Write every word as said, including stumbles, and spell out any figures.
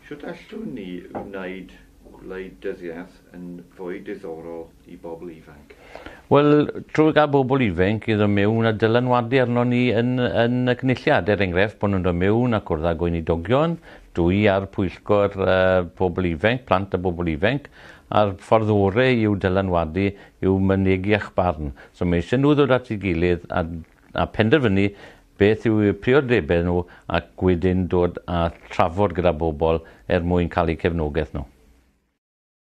Shwt allwn ni wneud gwleidyddiaeth yn fwy diddorol i bobl ifanc? Wel, trwy gael bobl ifanc i ddod mewn a dylanwadu arno ni yn, yn y cynulliad, er enghraifft, bod nhw'n dod mewn a cwrdd â gweinidogion, dwi ar pwyllgor uh, pobl ifanc, plant a bobl ifanc, a'r ffordd orau i'w dylanwadu yw mynegi eich barn. So mae eisiau nhw ddod at ei gilydd a, a penderfynu beth yw eu priodebau nhw ac wedyn dod a trafod gyda bobl er mwyn cael eu cefnogaeth nhw.